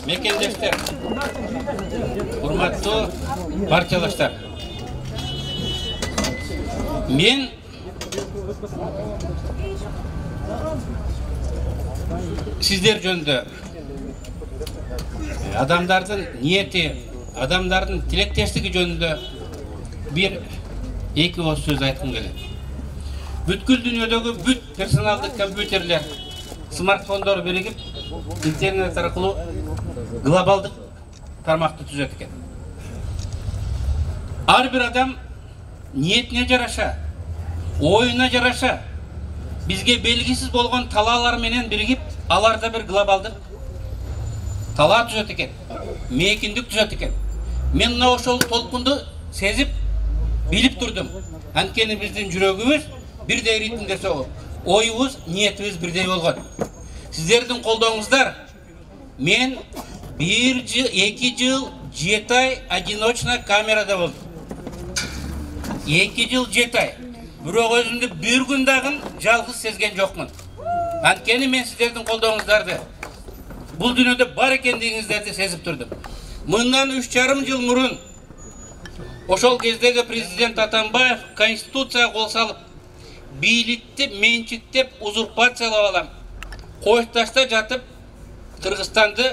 мекендештер, урматтуу партиялаштар. Мен сиздер жөнүндө адамдардын ниети, адамдардын тилектештиги жөнүндө бир эки ооз сөз айткым келет. Бүткүл дүйнөдөгү бүт персоналдык компьютерлер, смартфондор биригип, интернет аркылуу глобалдык тармакты түзөт экен. Ар бир адам ниетине жараша, оюна жараша, бизге белгисиз болгон талаалар менен биригип, аларда бир глобалдык талаа түзөт экен, мейкиндик түзөт экен. Мен мына ошол толкунду сезип, билип турдум. Анткени биздин жүрөгүбүз бирдей ритмде согуп, оюбуз, ниетибиз бирдей болгон. Сиздердин колдооңуздар мен 1 жыл, 2 жыл, 7 ай одиночно камерада болдум. 2 жыл, 7 ай. Бирок өзүмдү бир күн дагы жалгыз сезген жокмун. Анткени мен сиздердин колдооңуздарды бул дүйнөдө бар экендигиңиздерди сезип турдум. Мындан 3,5 жыл мурун ошол кездеги президент Атамбаев конституцияга кол салып, бийликти менчиктеп узурпациялап алам, кошташта жатып Кыргызстанды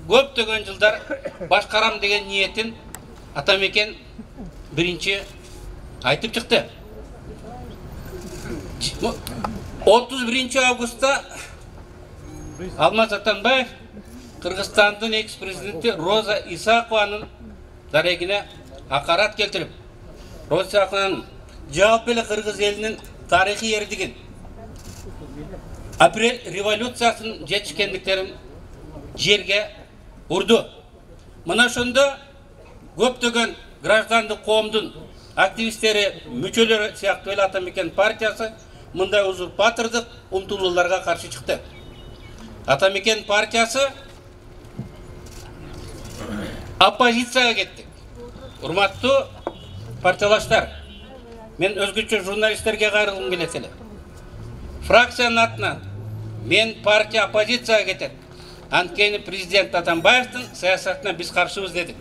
көптөгөн жылдар башкарам деген ниетин Атамекен биринчи айтып чыкты. 31 августта Алмаз Атамбаев Кыргызстандын экс-президенти Роза Исакованын дарегине акарат келтирип, Роза Исакованын жалпы эле кыргыз элинин тарыхый эрдигин, апрель революциясынын жетишкендиктерин жерге урду. Мына ошондо көптөгөн граждандык коомдун активисттери, мүчөлөрү сыяктуу эле Атамекен партиясы мындай узурпатордук умтулууларга каршы чыкты. Атамекен партиясы оппозицияга кетти. Урматтуу партиялаштар, мен өзгөчө журналисттерге кайрылгым келет эле. Фракциянын атынан мен партия оппозицияга кетет. Анткени президент Атамбаевдин саясатына биз каршыбыз дедик.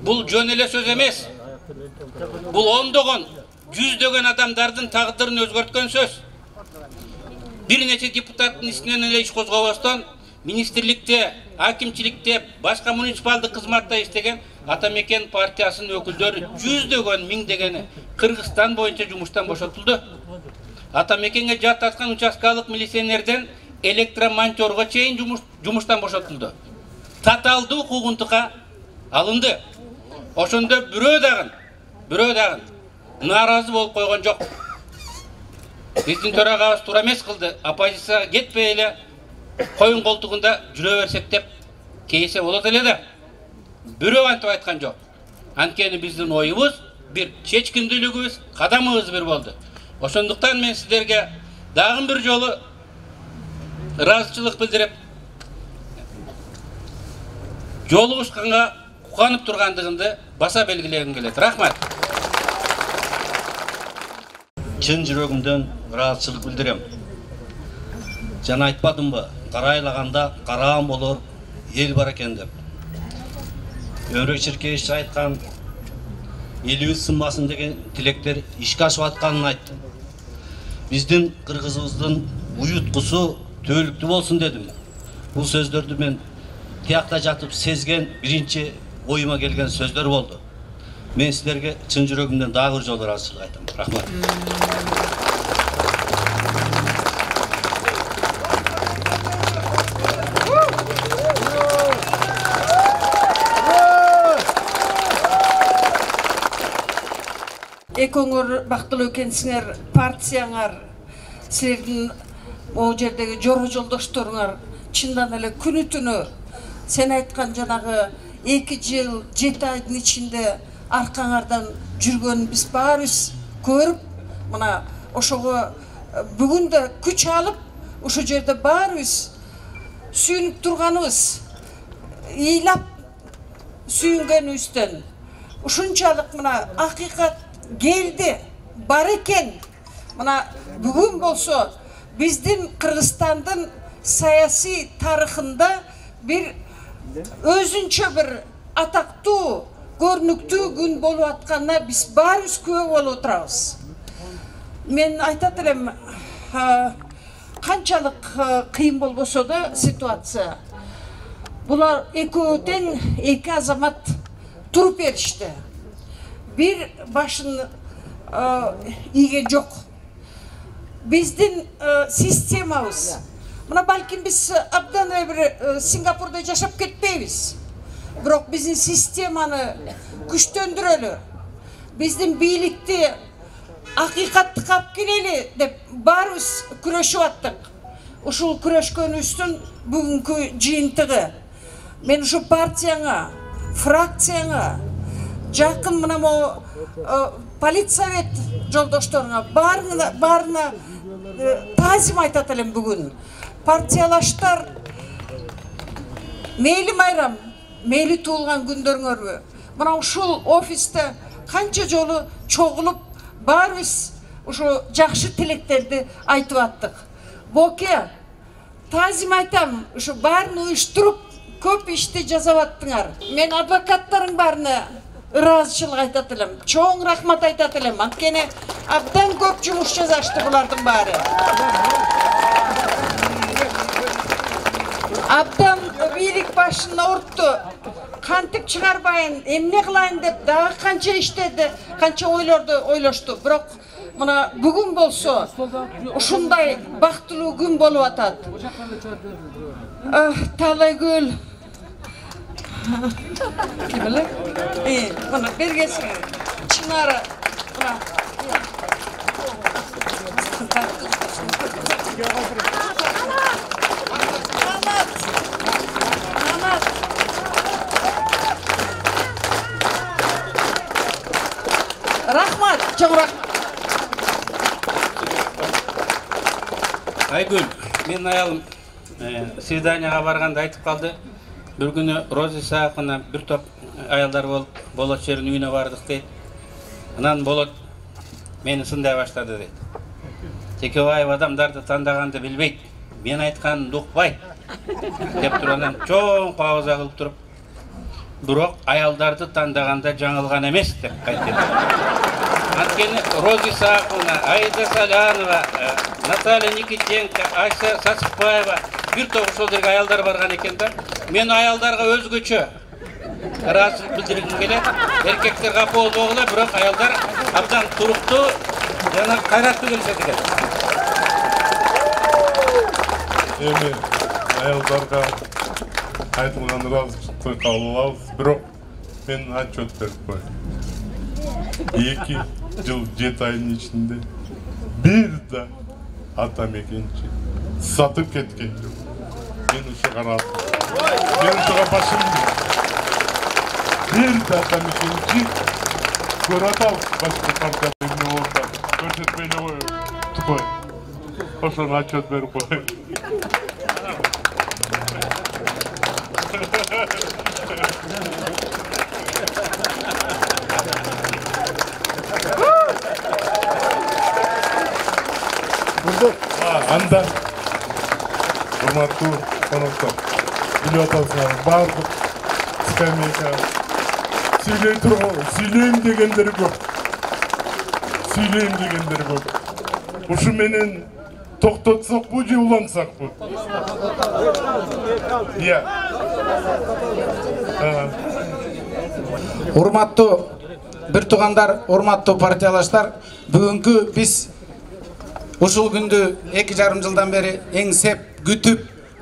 Бул жөн эле сөз эмес. Бул ондогон, жүздөгөн адамдардын тагдырын өзгөрткөн сөз. Бир нече депутаттын исинен эле иш козгобостон, министрликте, акимчиликте, башка муниципалдык кызматта иштеген Атамекен партиясынын өкүлдөрү жүздөгөн, миңдегени Кыргызстан боюнча жумуштан бошотулду. Атамекенге жаттаткан участкалык милиционерден электромонтёрго чейин жумуштан бошотулду. Таталдуу укугунтукка алынды. Ошондо бирөө дагы нааразы болуп койгон жок. Биздин төрагабыз туура эмес кылды. Оппозицияга кетпей эле коюн колтугунда жүрө берсек деп кейсе болот эле да. Бирөө антип айткан жок. Анткени биздин оюбуз бир, чечкиндүүлүгүбүз, кадамыбыз бир болду. Ошондуктан мен сиздерге дагы бир жолу ыраазычылык билдирип, жолугушканга кубанып тургандыгымды баса белгилегим келет. Рахмат. Чын жүрөгүмдөн ыраазычылык билдирем. Жана айтпадымбы, карайлаганда караам болор эл бар экен деп. Өмүрбек Черкеевич айткан элибиз сынбасын деген тилектер ишке ашып атканын айтты. Биздин кыргызыбыздын уюткусу төөлүктүү болсун дедим. Бул сөздөрдү мен тиякта жатып сезген биринчи оюма келген сөздөр болду. Мен силерге чын жүрөгүмдөн дагы бир жолу ыраазычылык айтам. Рахмат. Экөөңөр бактылуу экенсиңер, партияңар, силердин могу жердеги жора жолдошторуңар чындан эле күнү түнү сен айткан жанагы 2 жыл 7 айдын ичинде аркаңардан жүргөнүн биз баарыбыз көрүп, мына ошого бүгүн да күч алып, ошол жерде баарыбыз сүйүнүп турганыбыз, ыйлап сүйүнгөнүбүздөн ушунчалык мына акыйкат келди, бар экен. Мына бүгүн болсо биздин Кыргызстандын саясий тарыхында бир өзүнчө бир атактуу, көрүнүктүү күн болуп атканына биз баарыбыз күбө болуп отурабыз. Мен айтат элем, канчалык кыйын болбосо да ситуация. Булар экөө тең эки азамат туруп беришти. Бир башын ийген жок. Биздин системабыз. Мына балким биз абдан бир Сингапурда жашап кетпейбиз. Бирок биздин системаны күчтөндүрөлү. Биздин бийликти акыйкаттыкка алып келели деп баарыбыз күрөшүп аттык. Ушул күрөшкөнүбүздүн бүгүнкү жыйынтыгы. Мен ушу партияңа, фракцияңа, жакын мына могу политсовет жолдошторуңа баарына таазим айтат элем бүгүн. Партиялаштар, мейли майрам, мейли туулган күндөрүңөрбү. Мына ушул офисте канча жолу чогулуп баарыбыз ушу жакшы тилектерди айтып аттык. Боке, таазим айтам, ушу баарын уюштуруп көп ишти жасап аттыңар. Мен адвокаттарың баарына ыраазычылык айтат элем. Чоң рахмат айтат элем. Анткени абдан көп жумуш жасашты булардын баары. Абдан бийлик башына уртту. Кантип чыгарбайын, эмне кылайын деп дагы канча иштеди, канча ойлорду ойлошту. Бирок мына бүгүн болсо ушундай бактылуу күн болуп атат. Талайгүл. Ким эле? Мына бергесиң. Чынары. Мына. Рахмат, чоң рахмат. Айгүл, мен аялым свиданияга барганда айтып калды. Бир күнү Роза Исааковна бир топ аялдар болот жерин үйүнө бардык дейт. Анан болот мени сындай баштады дейт. Текебаев адамдарды тандаганды билбейт, мен айтканымды укпайт деп туруп анан чоң пауза кылып туруп, бирок аялдарды тандаганда жаңылган эмес деп айтты. Анткени Роза Исааковна, Аида Салянова, Наталья Никитенко, Айса Сасыкбаева бир топ ошол жерге аялдар барган экен да. Мен аялдарга өзгөчө ыраазычылык билдиргим келет. Эркектер капа болбогула, бирок аялдар абдан туруктуу жана кайраттуу келишет экен. Эми аялдарга айтылган ыраазычылыкты кабыл алабыз, бирок мен отчет берип коеюн. 2 жыл 7 айдын ичинде бир да атамекенчи сатып кеткен жок. Мен ушуга ыраазымын. Мен ушуга башым бир да атамекенчи көрө атабыз. Башка партия эмне болуп атат, көрсөтпөй эле коеюн. Ошону отчет берип коеюн. Анда урматтуу коноктор, билип атасыңар, баардык скамейка сүйлөйм дегендер көп. Ушу менен токтотсокпу же улантсакпы? Иә. Урматтуу бир туугандар, урматтуу партиялаштар, бүгүнкү биз ушул күндү 2,5 жылдан бери эңсеп, күтүп,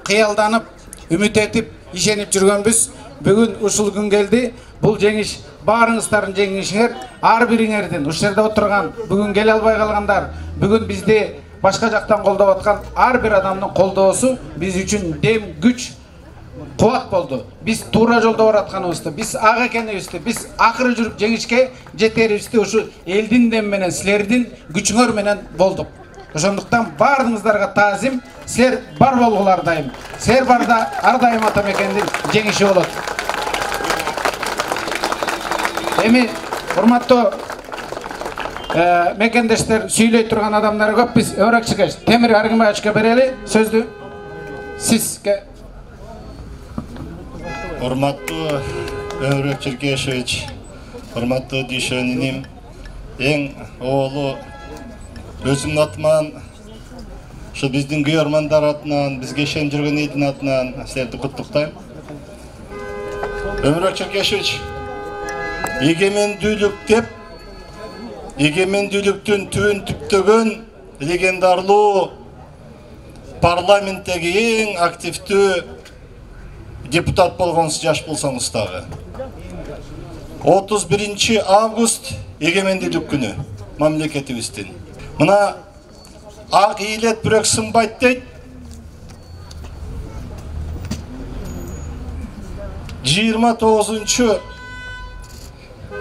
кыялданып, үмүт этип, ишенип жүргөнбүз. Бүгүн ушул күн келди. Бул жеңиш баарыңыздардын жеңишиңер, ар бириңердин ушул жерде отурган, бүгүн келе албай калгандар, бүгүн бизди башка жактан колдоп аткан ар бир адамдын колдоосу биз үчүн дем, күч, кубат болду. Биз туура жолдо баратканыбызды, биз ак экенибизди, биз акыры жүрүп жеңишке жетерибизди ушу элдин дем менен, силердин күчүңөр менен болдук. Ошондуктан баарыңыздарга таазим, силер бар болгулар дайым. Силер барда ар дайым атамекендин жеңиши болот. Эми урматтуу мекендештер, сүйлөй турган адамдар көп. Биз Өрөкчүгө Темир Аргымбаевичке берели сөздү. Сизге Урматтуу Өмүрбек Черкешевич, урматтуу дүйшөнүнүм, эң оолу өзүмдүн атыман, ушу биздин күйөрмандар атынан, бизге ишенип жүргөн элдин атынан силерди куттуктайм. Өмүрбек Черкешевич, эгемендүүлүк деп, эгемендүүлүктүн түбүн түптөгөн легендарлуу парламенттеги эң активдүү депутат болгонсуз, жаш болсоңуз дагы. 31 август эгемендүүлүк күнү мамлекетибиздин. Мына ак ийилет бирок сынбайт дейт. 29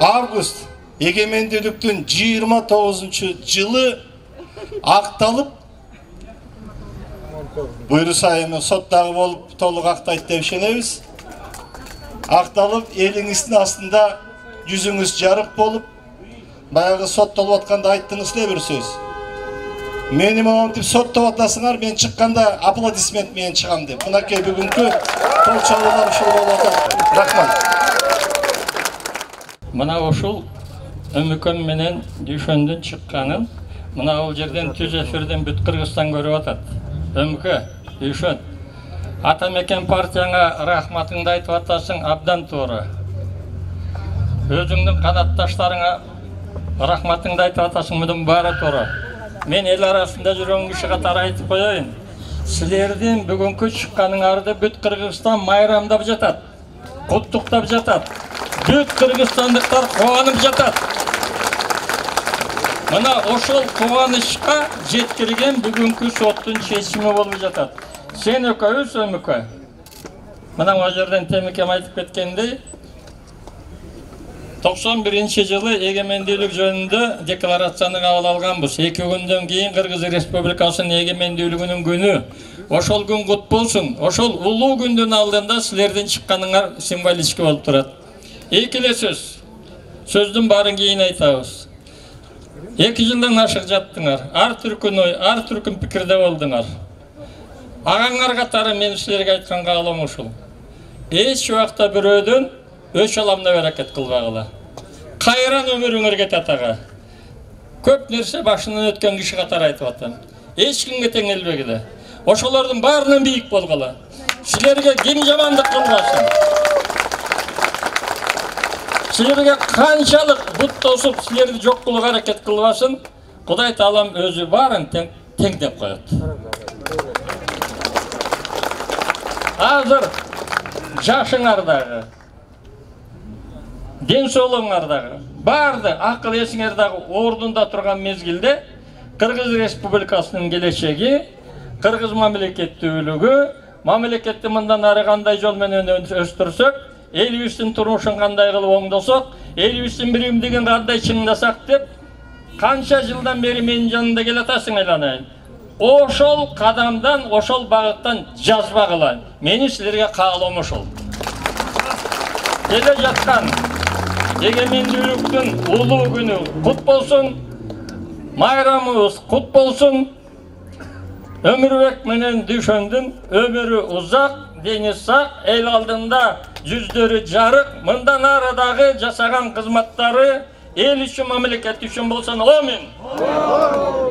август эгемендүүлүктүн 29 жылы акталып, буйруса эми соттагы болуп толук актайт деп ишенебиз. Акталып, элиңиздин астында жүзүңүз жарык болуп, баягы соттолуп атканда айттыңыз эле бир сөз. Мени монтип соттоп атасыңар, мен чыкканда аплодисмент менен чыгам деп. Мынакей бүгүнкү кол чабуулар ушул болуп атат. Рахмат. Мына ушул Өмүкөм менен Дүйшөндүн чыкканын мына бул жерден түз эфирден бүт Кыргызстан көрүп атат. Өмүкө, Дүйшөн, Атамекен партияңа рахматыңды айтып атасың, абдан туура. Өзүңдүн канатташтарыңа рахматыңды айтып атасың, мынын баары туура. Мен эл арасында жүргөн киши катары айтып коеюн. Силердин бүгүнкү чыкканыңарды бүт Кыргызстан майрамдап жатат, куттуктап жатат. Бүт кыргызстандыктар кубанып жатат. Мына ошол кубанычка жеткирген бүгүнкү соттун чечими болуп жатат. Сен экөөбүз, Өмүкө. Мына ал жерден Темикем айтып кеткендей, 91 жылы эгемендүүлүк жөнүндө декларацияны кабыл алганбыз. 2 күндөн кийин Кыргыз Республикасынын эгемендүүлүгүнүн күнү. Ошол күн кут болсун. Ошол улуу күндүн алдында силердин чыкканыңар символический болуп турат. Эки эле сөз. Сөздүн баарын кийин айтабыз. 2 жылдан ашык жаттыңар. Ар түркүн ой, ар түркүн пикирде болдуңар. Агаңар катары мен силерге айткан каалоом ушул. Эч убакта бирөөдөн өч аламда берекет кылбагыла. Кайран өмүрүңөр кетет ага. Көп нерсе башынан өткөн киши катары айтып атам. Эч кимге теңелбегиле. Ошолордун баарынан бийик болгула. Силерге ким жамандык кылбасын. Силерге канчалык бут тосуп, силерди жок кылууга аракет кылбасын, Кудай Таалам өзү баарын теңдеп коет. Азыр жашыңардагы, ден соолугуңардагы, баарды акыл эсиңер дагы ордунда турган мезгилде Кыргыз Республикасынын келечеги, Кыргыз мамлекеттүүлүгү, мамлекетти мындан ары кандай жол менен өстүрсөк, элибиздин турмушун кандай кылып оңдосок, элибиздин биримдигин кандай чыңдасак деп канча жылдан бери менин жанымда келатасың айланайын. Ошол кадамдан, ошол багыттан жазбагыла. Мени силерге каалоом ошол. Келе жаткан эгемендүүлүктүн улуу күнү кут болсун, майрамыбыз кут болсун. Өмүрбек менен Дүйшөндүн өмүрү узак, дени сак, эл алдында жүздөрү жарык, мындан ары дагы жасаган кызматтары эл үчүн, мамлекет үчүн болсун. Амин.